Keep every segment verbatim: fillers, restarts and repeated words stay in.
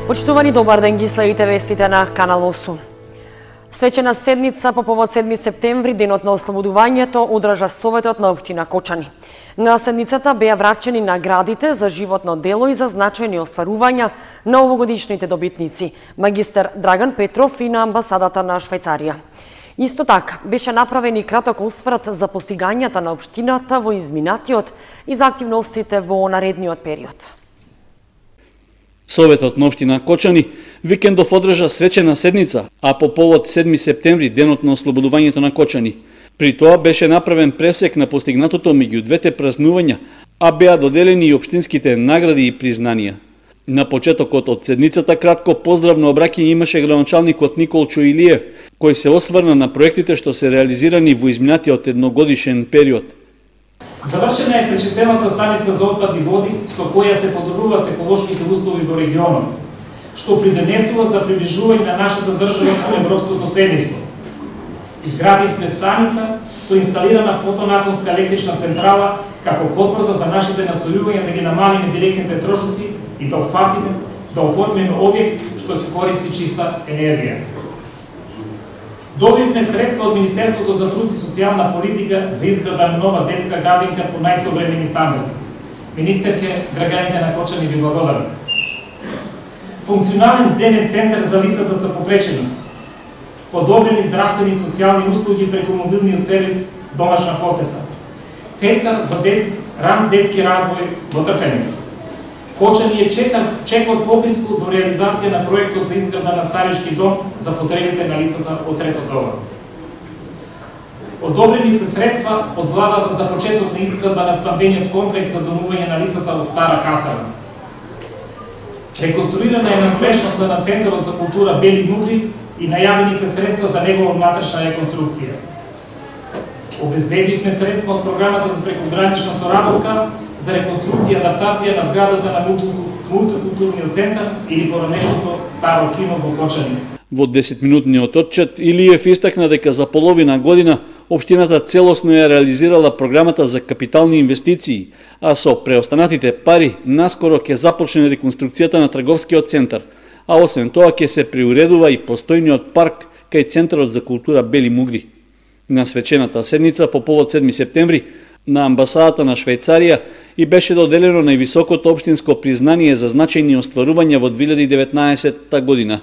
Почитувани, добар ден, ги следите вестите на Канал осум. Свечена седница по повод седми септември, денот на ослободувањето, одржа Советот на општина Кочани. На седницата беа врачени наградите за животно дело и за значајни остварувања на овогодишните добитници, магистар Драган Петров и на амбасадата на Швајцарија. Исто така, беше направен и краток осврт за постигањата на општината во изминатиот и за активностите во наредниот период. Советот на општина Кочани викендов одржа свечена седница, а по повод седми септември, денот на ослободувањето на Кочани. При тоа беше направен пресек на постигнатото меѓу двете празнувања, а беа доделени и општинските награди и признанија. На почетокот од седницата кратко поздравно обраќање имаше градоначалникот Николчо Илиев, кој се осврна на проектите што се реализирани во изминатиот едногодишен период. Завршена е пречистената станица за отпадни води, со која се подобруваат еколошките услови во регионот, што придонесува за приближување на нашата држава кон европското семејство. Изградивме станица со инсталирана фотонапонска електрична централа како потврда за нашите настојувања да ги намалиме директните трошоци и да офатиме, да оформиме објект што ќе користи чиста енергија. Добивме средства од Министерството за труд и социјална политика за изградба на нова детска градинка по најсовремени стандарди. Министерке, граѓаните на Кочани ви благодарам. Функционален дневен центар за лицата со попреченост. Подобрени здравствени и социјални услуги преку мобилниот сервис домашна посета. Центар за дет, ран детски развој во трпење. Кочани е четар чекор поблиску до реализација на проектот за изградба на старишки дом за потребите на лицата од трето доба. Одобрени се средства од владата за почеток на изградба на стамбениот комплекс за домување на лицата од Стара касарна. Реконструирана е надморешноста на Центарот за култура Бели Мугри и најавени се средства за негова внатрешна реконструкција. Обезбедивме средства од програмата за прекогранична соработка за реконструкција и адаптација на зградата на мултикултурниот центар или поранешното старо кино во Кочани. Во десетминутниот отчет Илиев истакна дека за половина година општината целосно ја реализирала програмата за капитални инвестиции, а со преостанатите пари наскоро ќе започне реконструкцијата на трговскиот центар, а освен тоа ќе се приуредува и постојниот парк кај Центарот за култура Бели Мугри. На свечената седница по повод седми септември на амбасадата на Швајцарија и беше доделено највисокото општинско признание за значајни остварувања во две илјади и деветнаесетта година.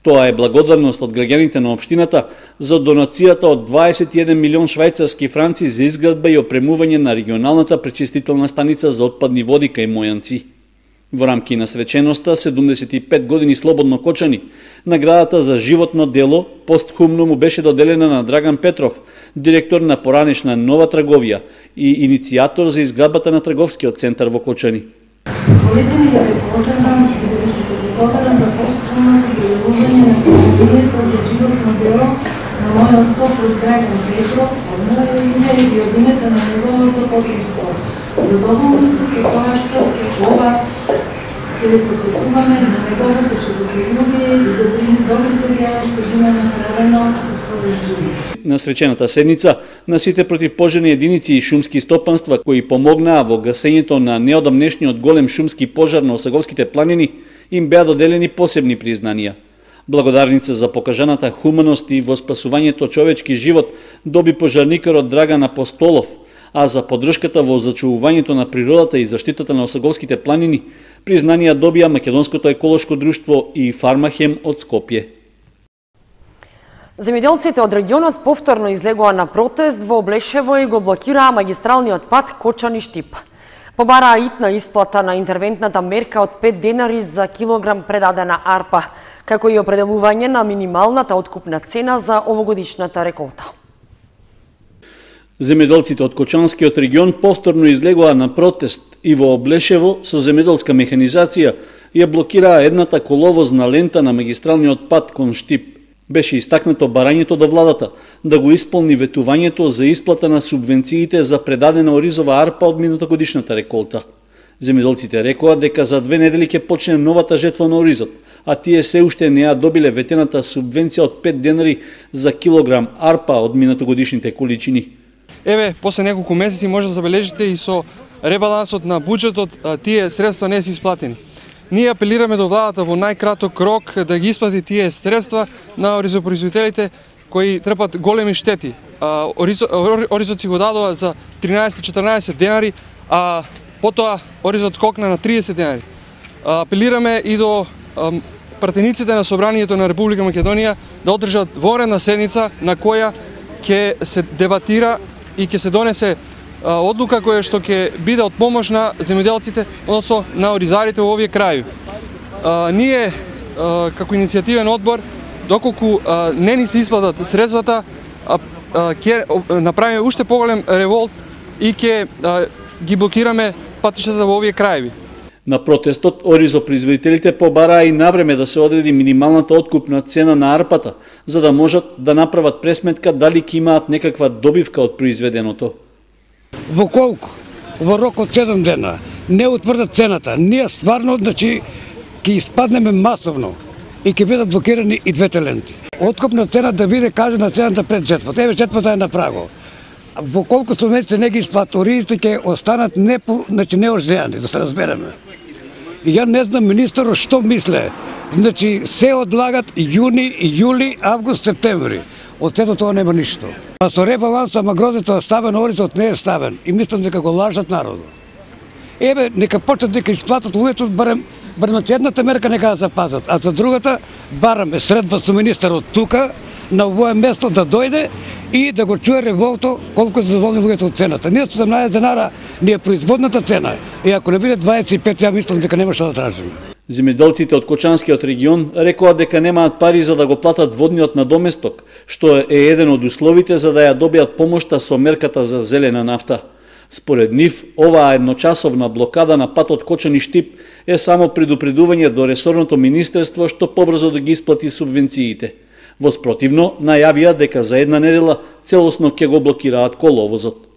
Тоа е благодарност од граѓаните на општината за донацијата од дваесет и еден милион швајцарски франци за изградба и опремување на регионалната пречистителна станица за отпадни води кај Мојанци. Во рамки на свеченоста седумдесет и пет години слободно Кочани, наградата за животно дело постхумно му беше доделена на Драган Петров, директор на поранешна Нова трговија и иницијатор за изградбата на трговскиот центар во Кочани. Позволете ми да ве поздравам и да ви се заблагодарам за постхумното доделување на премијата за животно дело на мојот сопруг Драган Петров, од моје име и од името на неговото потомство. Задоволни сме со тоа што се ова се подсетуваме на неговото човеколюбие и добрите дела што ги има направено во својот живот. На свечената седница на сите противпожарни единици и шумски стопанства кои помогнаа во гасењето на неодамнешниот голем шумски пожар на Осаговските планини им беа доделени посебни признанија. Благодарница за покажаната хуманост и во спасувањето човечки живот доби пожарникарот Драган Апостолов, а за поддршката во зачувувањето на природата и заштитата на Осаговските планини признанија добија Македонското еколошко друштво и Фармахем од Скопје. Земјоделците од регионот повторно излегоа на протест во Облешево и го блокираа магистралниот пат Кочани-Штип. Побараа итна исплата на интервентната мерка од пет денари за килограм предадена арпа, како и определување на минималната откупна цена за овогодишната реколта. Земјоделците од Кочанскиот регион повторно излегоа на протест и во Облешево со земјоделска механизација ја блокираа едната коловозна лента на магистралниот пат кон Штип. Беше истакнато барањето до владата да го исполни ветувањето за исплата на субвенциите за предадена оризова арпа од минатогодишната реколта. Земјоделците рекоа дека за две недели ќе почне новата жетва на оризот, а тие се уште не ја добиле ветената субвенција од пет денари за килограм арпа од минатогодишните количини. Еве, после неколку месеци може да забележите и со ребалансот на буџетот тие средства не се исплатени. ние апелираме до владата во најкраток рок да ги исплати тие средства на оризопроизводителите кои трпат големи штети. Оризот си го дадува за тринаесет-четрнаесет денари, а потоа Оризот скокна на триесет денари. Апелираме и до пратениците на Собранието на Република Македонија да одржат воредна седница на која ќе се дебатира и ќе се донесе одлука која што ќе биде од помош на земјоделците, односно на оризарите во овие крајови. Ние како иницијативен одбор, доколку не ни се исплатат средствата, ќе направиме уште поголем револт и ќе ги блокираме патиштата во овие крајови. На протестот оризопроизводителите побараа и навреме да се одреди минималната откупна цена на арпата, за да можат да направат пресметка дали ќе имаат некаква добивка од произведеното. Во колку? Во рок од седум дена не утврдат цената. Ние стварно, значи, ќе испаднеме масовно и ќе бидат блокирани и двете ленти. Откупна цена да биде кажена цената пред жетвата. Еве жетвата е на праго. Во колку со месеци не ги исплат, оризите ќе останат не, значи, неождеани, да се разбереме. И ја не знам министерот што мисле. Значи, се одлагат јуни, јули, август, септември. Од сето тоа нема ништо. А со ребаланс, ама грозето е ставен, оризот не е ставен. И мислам дека го лажат народот. Еве, нека почнат дека исплатат луѓето, барем, барем едната мерка нека да запазат, а за другата, бараме средба со министерот тука, на овое место да дојде и да го чуе револто колку се задоволни луѓето од цената. Ние седумнаесет денара ни е производната цена. И ако не биде дваесет и пет, ја мислам дека нема што да тражиме. Земјоделците од Кочанскиот регион рекоа дека немаат пари за да го платат водниот надоместок, што е еден од условите за да ја добијат помошта со мерката за зелена нафта. Според нив, оваа едночасовна блокада на патот Кочани-Штип е само предупредување до ресорното министерство што побрзо да ги исплати субвенциите. Воспротивно, најавија дека за една недела целосно ќе го блокираат коловозот.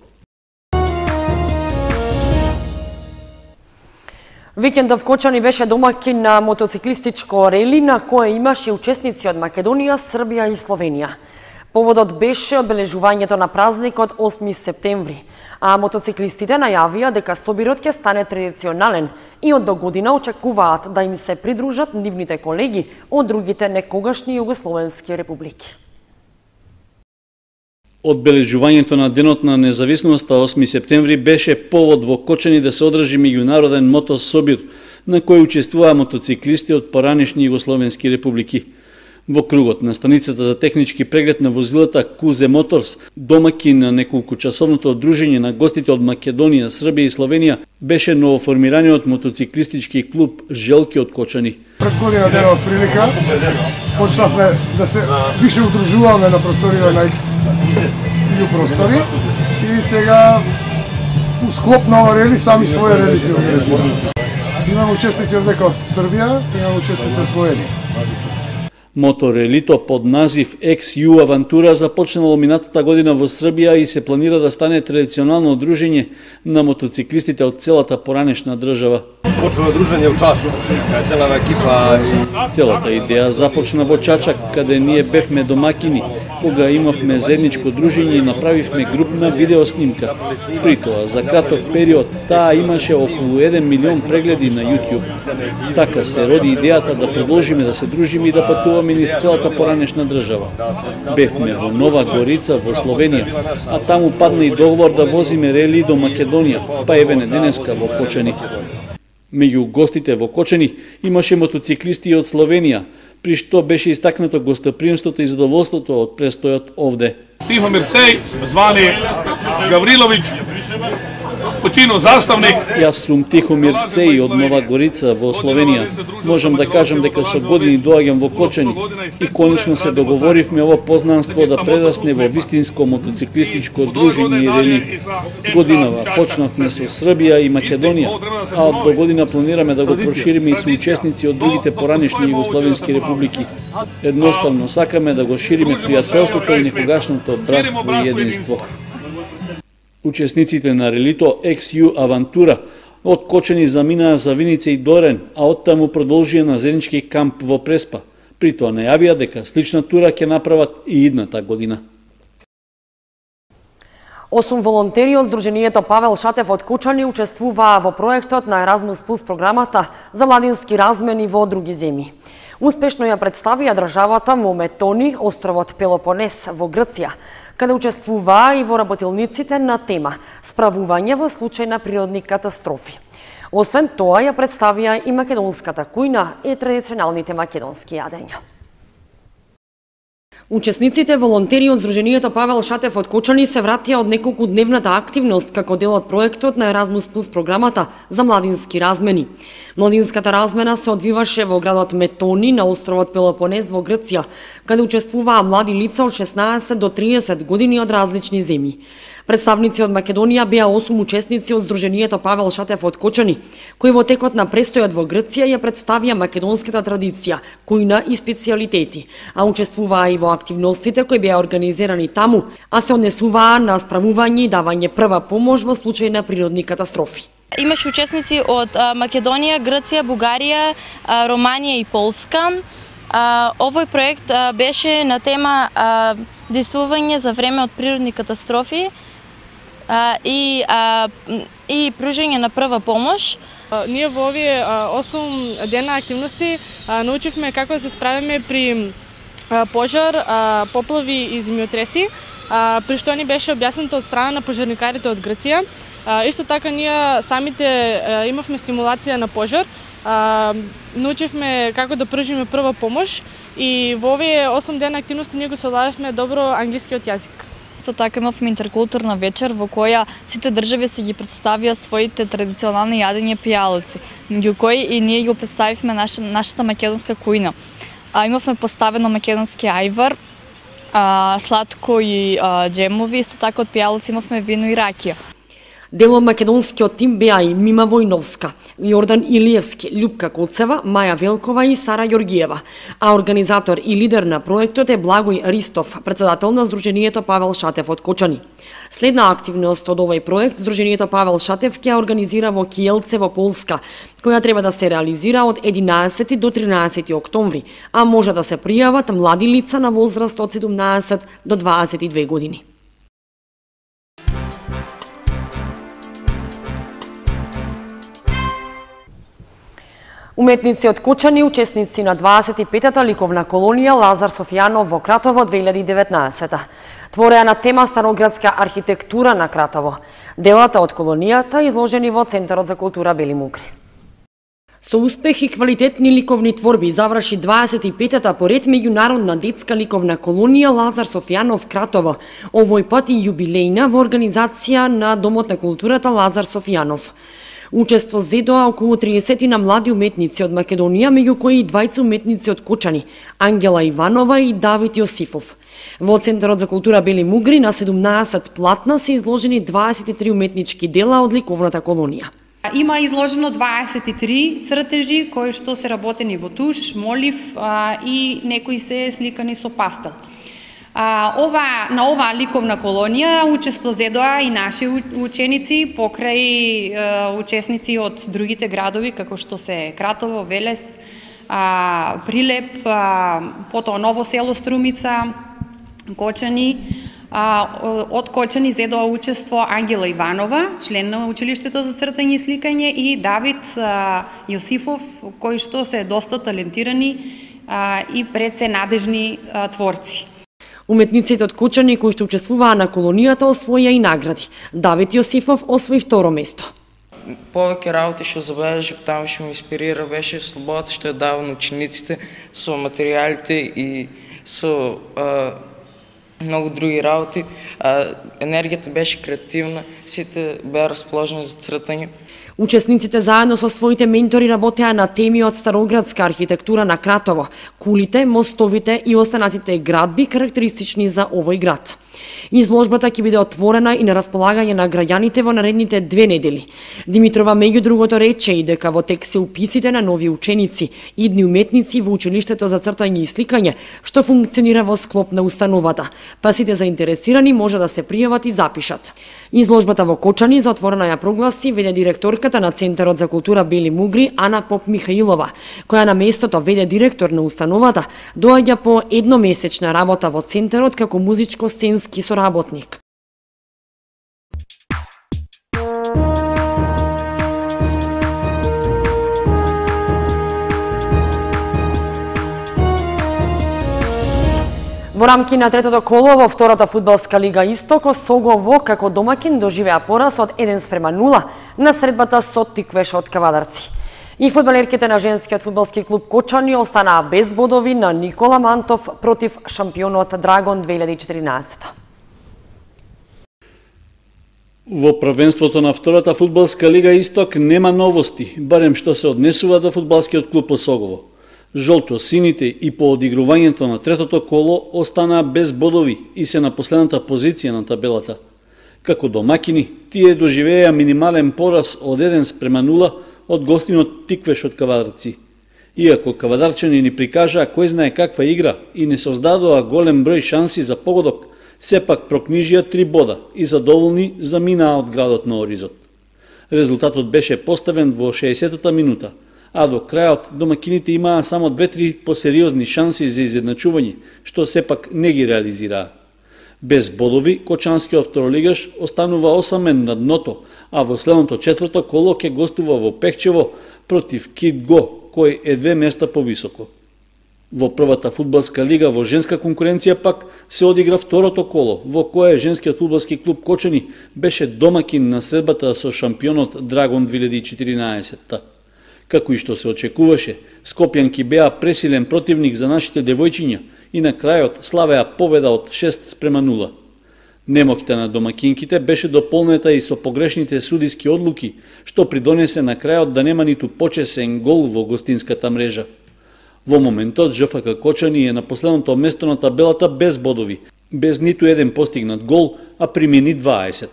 Викендов Кочани беше домаќин на мотоциклистичко рели на кое имаше учесници од Македонија, Србија и Словенија. Поводот беше одбележувањето на празникот осми септември, а мотоциклистите најавија дека собирот ќе стане традиционален и од до година очекуваат да им се придружат нивните колеги од другите некогашни југословенски републики. Одбележувањето на Денот на независноста осми септември беше повод во Кочани да се одржи меѓународен мотособир, на кој учествуваа мотоциклисти од поранешни југословенски републики. Во кругот на станицата за технички преглед на возилата Кузе Моторс, домаќин на неколкучасовното одружење на гостите од Македонија, Србија и Словенија, беше новоформираниот мотоциклистички клуб Желки од Кочани. Пред година дена од прилика почнавме да се више удружуваме на просторијата на X ю простори и сега у склоп на ова рели сами своје рели се организираме. Имаме учесници од дека од Србија, имаме учесници од Словенија. Моторелито под назив Екс Ю Авантура започнало минатата година во Србија и се планира да стане традиционално одружење на мотоциклистите од целата поранешна држава. Почна дружење во Чачок, целава екипа. Целата идеја започна во Чачак, каде ние бевме домакини, кога имавме заедничко дружење и направивме групна видеоснимка. При тоа, за краток период, таа имаше околу еден милион прегледи на YouTube. Така се роди идејата да продолжиме да се дружиме и да патуваме низ целата поранешна држава. Бевме во Нова Горица, во Словенија, а таму падна и договор да возиме рели до Македонија, па еве не денеска во Кочани. Меѓу гостите во Кочани имаше мотоциклисти од Словенија, при што беше истакнато гостоприемството и задоволството од престојот овде. Тихомир Цеј, звани Гавриловиќ, починал заставник. Јас сум Тихомир Цеј од Нова Горица во Словенија. Можам да кажам дека со години доаѓам во Кочани и конечно се договоривме ово познанство да прерасне во вистинско мотоциклистичко дружење и рели. Годинава почнавме со Србија и Македонија, а од до година планираме да го прошириме и со учесници од другите поранешни југословенски републики. Едноставно сакаме да го шириме пријателството и некогашното братство и единство. Учесниците на релито Екс Ю Авантура од Кочани заминаа за Виница и Дорен, а оттаму продолжија на заеднички камп во Преспа. При тоа најавија дека слична тура ќе направат и идната година. Осум волонтери од Сдруженијето Павел Шатев од Кочани учествуваа во проектот на Еразмус Плюс програмата за младински размени во други земји. Успешно ја представија државата во Метони, островот Пелопонес во Грција, каде учествуваа и во работилниците на тема справување во случај на природни катастрофи. Освен тоа ја представија и македонската кујна и традиционалните македонски јадења. Учесниците волонтери од Сдруженијето Павел Шатев од Кочани се вратија од неколку дневната активност како дел од проектот на Еразмус Плюс програмата за младински размени. Младинската размена се одвиваше во градот Метони на островот Пелопонес во Грција, каде учествуваа млади лица од шеснаесет до триесет години од различни земји. Представници од Македонија беа осум учесници од Сдруженијето Павел Шатев од Кочани, кои во текот на престојот во Грција ја представија македонската традиција, кујна и специјалитети, а учествуваа и во активностите кои беа организирани таму, а се однесуваа на справување и давање прва помош во случај на природни катастрофи. Имаше учесници од Македонија, Грција, Бугарија, Романија и Полска. Овој проект беше на тема действување за време од природни катастрофи и и пружање на прва помош. Ние во овие осум дена активности научивме како да се справиме при пожар, поплави и земјотреси, при што ни беше објаснато од страна на пожарникарите од Грција. Исто така ние самите имавме стимулација на пожар, научивме како да пружиме прва помош и во овие осум дена активности ние го совладавме добро англискиот јазик. Исто така имавме интеркултурна вечер во која сите држави се ги представија своите традиционални јадења пијалаци, меѓу кои и ние го представивме наша, нашата македонска кујна. А, имавме поставено македонски ајвар, а, сладко и а, джемови, исто така од пијалаци имавме вино и ракија. Дел од македонскиот тим беа и Мима Војновска, Јордан Илиевски, Љупка Коцева, Маја Велкова и Сара Јоргиева, а организатор и лидер на проектот е Благој Ристов, председател на Сдруженијето Павел Шатев од Кочани. Следна активност од овој проект Сдруженијето Павел Шатев ќе организира во Киелце во Полска, која треба да се реализира од единаесети до тринаесети октомври, а може да се пријават млади лица на возраст од седумнаесет до дваесет и две години. Уметници од Кочани, учесници на дваесет и петата ликовна колонија Лазар Софијанов во Кратово две илјади и деветнаесета. Твореа на тема староградска архитектура на Кратово. Делата од колонијата изложени во Центарот за култура Бели Мугри. Со успех и квалитетни ликовни творби заврши дваесет и петата поред меѓународна детска ликовна колонија Лазар Софијанов Кратово, овој пат и јубилејна во организација на Домот на културата Лазар Софијанов. Учество зедоа околу триесетина млади уметници од Македонија, меѓу кои и двајца уметници од Кочани, Ангела Иванова и Давид Јосифов. Во Центарот за култура Бели Мугри на седумнаесет платна се изложени дваесет и три уметнички дела од ликовната колонија. Има изложено дваесет и три цртежи кои што се работени во туш, молив а, и некои се сликани со пастел. А, ова, на оваа ликовна колонија учество зедоа и наши ученици покрај е, учесници од другите градови како што се Кратово, Велес, а, Прилеп, а, потоа Ново село Струмица, Кочани. А, од Кочани зедоа учество Ангела Иванова, член на училиштето за цртање и сликање, и Давид а, Јосифов, кои што се доста талентирани а, и пред се надежни а, творци. Уметниците од Кочани кои што учествуваа на колонијата освоија и награди. Давид Јосифов освои второ место. Повеќе работи што забележав таму што ме инспирира беше слободата што ја дава на учениците со материјалите и со а, многу други работи. А, енергијата беше креативна, сите беа расположени за цртање. Учесниците заедно со своите ментори работеа на теми од староградска архитектура на Кратово, кулите, мостовите и останатите градби карактеристични за овој град. Изложбата ќе биде отворена и на располагање на граѓаните во наредните две недели. Димитрова меѓу другото рече и дека во тек се уписите на нови ученици, идни уметници во училиштето за цртање и сликање, што функционира во склоп на установата, па сите заинтересирани може да се пријават и запишат. Изложбата во Кочани за отворена ја прогласи веде директорката на Центарот за култура Бели Мугри Ана Поп Михаилова, која на местото веде директор на установата, доаѓа по едномесечна работа во Центарот како музичко-сценски соработник. Во рамки на третото коло во втората фудбалска лига Исток, Осогово како домакин доживеа пораз од еден спрема нула на средбата со Тиквеш од Кавадарци. И фудбалерките на женскиот фудбалски клуб Кочани останаа без бодови на Никола Мантов против шампионот Драгон две илјади и четиринаесетта. Во првенството на втората фудбалска лига Исток нема новости, барем што се однесува до фудбалскиот клуб Осогово. Жолто-сините и по одигрувањето на третото коло останаа без бодови и се на последната позиција на табелата. Како домакини, тие доживеа минимален пораз од еден спрема нула од гостинот Тиквеш од Кавадарци. Иако кавадарчани ни прикажаа кој знае каква игра и не создадоа голем број шанси за погодок, сепак прокнижија три бода и задоволни заминаа од градот на Оризот. Резултатот беше поставен во шеесеттата минута, а до крајот домакините имаа само две-три посериозни шанси за изедначување, што сепак не ги реализираа. Без бодови, кочанскиот второлигаш останува осамен на дното, а во следното четврто коло ќе гостува во Пехчево против Кит Го, кој е две места повисоко. Во првата фудбалска лига во женска конкуренција пак се одигра второто коло, во кое женскиот фудбалски клуб Кочани беше домакин на средбата со шампионот Драгон две илјади и четиринаесетта. Како и што се очекуваше, скопјанки беа пресилен противник за нашите девојчиња и на крајот славеа победа од шест спрема нула. Немоќта на домакинките беше дополнета и со погрешните судиски одлуки, што придонесе на крајот да нема ниту почесен гол во гостинската мрежа. Во моментот ЖФК Кочани е на последното место на табелата без бодови, без ниту еден постигнат гол, а примени дваесет.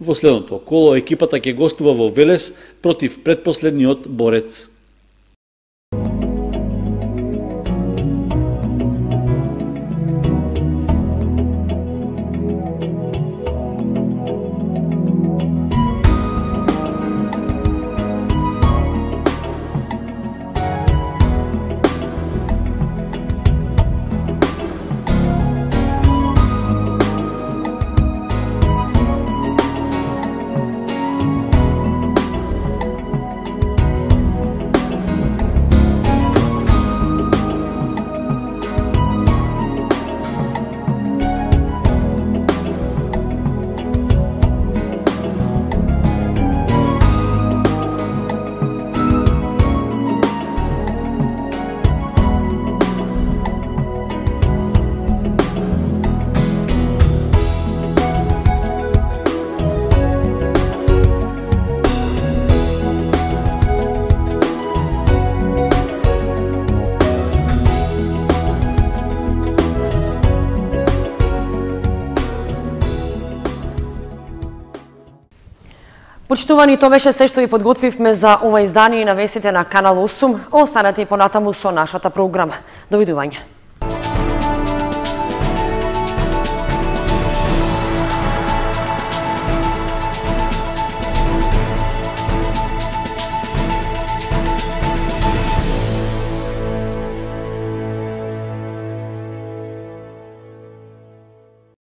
Во следното коло екипата ќе гостува во Велес против предпоследниот Борец. Почитувани, тоа беше се што ви подготвивме за ова издание на вестите на Канал осум. Останете и понатаму со нашата програма. Довидување.